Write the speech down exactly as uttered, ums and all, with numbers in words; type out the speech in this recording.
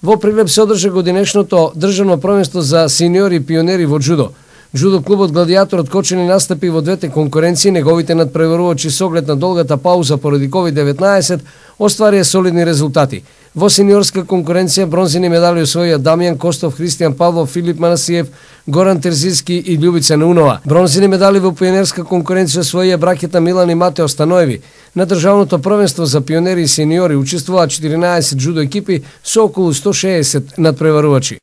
Во Прилеп се одржа годинешното државно првенство за сениори и пионери во џудо. Џудо клубот Гладијаторот Кочани настапи во двете конкуренции, неговите надпреварувачи со оглед на долгата пауза поради ковид деветнаесет остварија солидни резултати. Во сениорска конкуренција бронзени медали освоија Дамјан Костов, Христијан Павлов, Филип Манасиев, Горан Терзиски и Љубица Наунова. Бронзени медали во пионерска конкуренција освоија браќата Милан и Матео Станоеви. На државното првенство за пионери и сениори учествуваа четиринаесет џудо екипи со околу сто шеесет надпреварувачи.